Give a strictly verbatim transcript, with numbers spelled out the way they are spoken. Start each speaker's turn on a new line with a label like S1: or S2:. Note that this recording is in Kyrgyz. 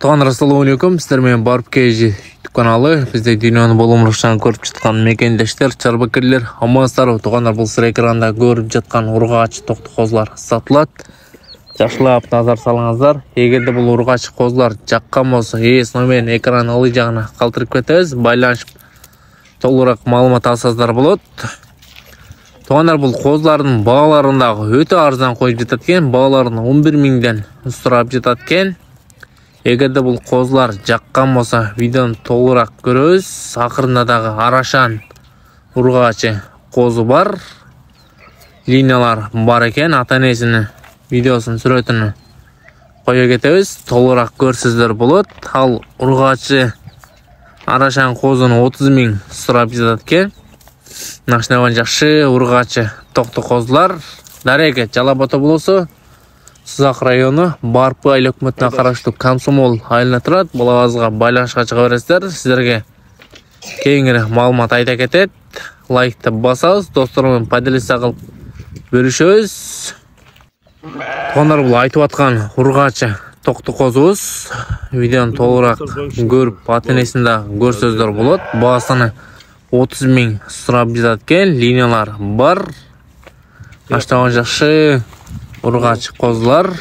S1: Туугандар, ассаламу алейкум. Сиздер менен Барып Кежи YouTube каналы. Бизде дүйнөнүн болумурушан көрүп жаткан мекендештер, чарбакерлер, амансыздарбы? Туугандар, бул сыр экранда көрүп жаткан ургач токту козулар сатылат. Жакшылап назар салыңыздар. Эгерде бул ургач козулар жаккан болсо, эс номерин экрандын ылдый жагына калтырып кетебиз. Байланышып толугураак маалымат алсаңыздар болот. Туугандар, бул козулардын бааларын дагы өтө арзан коюп жатат экен. Бааларын он бир миңден сурап жатат экен. Эгерде бул козулар жаккан болсо, видеону толугураак көрөбүз. Акырында дагы арашан ургачы козу бар. Линиялар бар экен. Ата-энесинин видеосунун сүрөтүнү кое кетебиз. Толугураак көрсөздөр болот. Ал ургачы арашан козуну отуз миң сурап жатат экен. Нашнабан жакшы ургачы токту козулар. Дареге Жалал Абад облусу, Сызак району, Барпы айыл өкмөтүнө караштуу Комсомол айылына турат. Бул абазга байланышка чыга бересиздер. Сиздерге кеңири маалымат айта кетет. Лайкты басабыз, достор менен поделиться кылып бөлүшөбүз. Туугандар, бул айтып аткан ургачы токту козубуз. Видеону толугураак көрүп, ата-энесин да көрсөздөр болот. Баасыны отуз миң сурап жатат экен. Линиялар бар. Наштабан жакшы ургач козулар.